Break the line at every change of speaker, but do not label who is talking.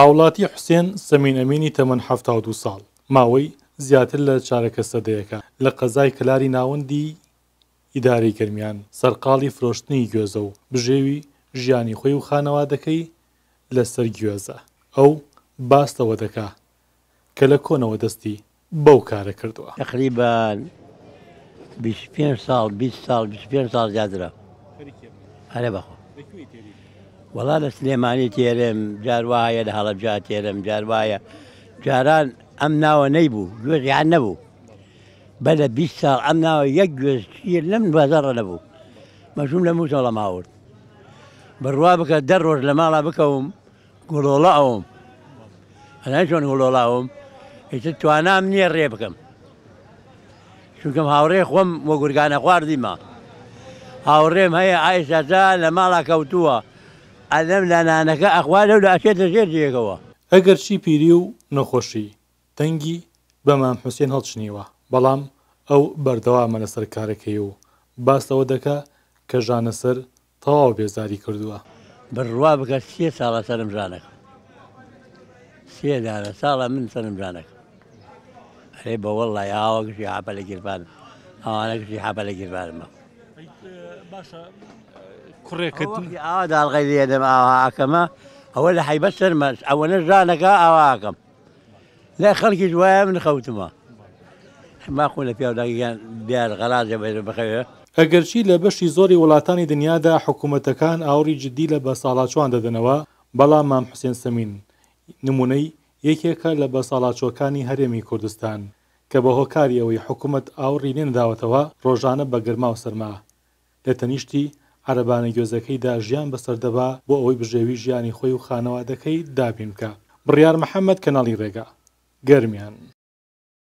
هاوڵاتی حوسێن سەمین ئەمینی تەمەن 72 ساڵ، ماوەی زیاتر لە چارەکە سەدەیەکە لە قەزای کەلاری ناوەندی ئیدارەی گەرمیان سەرقاڵی فرۆشتنی گوێزە و بژێوی ژیانی خۆی و خانەوادەکەی لەسەر گوێزە. ئەو باس لەوە دەکا کە لە کۆنەوە دەستی بەو کارە کردووە.
تەقریبەن 25 ساڵ 20 ساڵ 25 ساڵ زیاترە. ئەرێ بەخوا. وەڵا لە سلێمانی تێرم جار وایە لە هەڵەبجە تێرم جار وایە جاران ئەم ناوە نەیبوو گوێز یان نەبوو بە لە 20 ساڵ ئەم ناوە یەک گوێز شیر لەم بازاڕە نەبوو مەژوم لە مووسەڵەم هاورد بڕوا بکە دە ڕۆژ لە ماڵا بکەوم گوڵۆڵە ئەوم ئەزانی چۆن گوڵۆڵە ئەوم ئیتر توانام نییە ڕێ بکەم چونکەم هاوڕێ خۆم وە گورگانە خواردیمە هاوڕێم هەیە ئایساتا لە ماڵا کەوتووە ئەلەم لە نانەکە ئەخوا لەو لە ئەچێتە ژێر جێگەوە.
ئەگەرچی پیری و نەخۆشی دەنگی بە مام حوسێن هەڵچنیوە، بەڵام ئەو بەردەوامە لەسەر کارەکەی و باس لەوە دەکا کە ژانەسەر تەواو بێزاری کردووە.
بڕوا بکە سێ ساڵە سەرم ژانەکە سێ دانە ساڵە من سەرم ژانەکە ئەرێ بە وەڵڵای ئاوە گشتی حەپە لە گیرفانم ئەوانە گشتی حەپە لە گیرفانمە.
باشە کوڕێکت
ئاوا داڵغەی لێدەم ئاوا ئەکەمە ئەوە لە حەیبەت سەرمە ئەوەنە ژانەکە ئاوا ئەکەم لای خەڵکیش وایە من خەوتمە ماخۆ لە پیاو داگیان دیار غەرازە بێت بخەوێ.
ئەگەرچی لە بەشی زۆری وڵاتانی دنیادا حکومەتەکان ئاوڕی جدی لە بەساڵاچوان دەدەنەوە، بەڵام مام حوسێن سەمین نمونەی یەکێکە لە بەساڵاچوەکانی هەرێمی کوردستان کە بە هۆکاری ئەوەی حکومەت ئاوڕی لێنەداوەتەوە ڕۆژانە بە گەرما و سەرما لە تەنیشتی عەرەبانە گوێزەکەیدا ژیان بەسەر دەبا بۆ ئەوەی بژێوی ژیانی خۆی و خانەوادەکەی دابین بکا. بڕیار محەمەد کەناڵی ڕێگا. گەرمیان.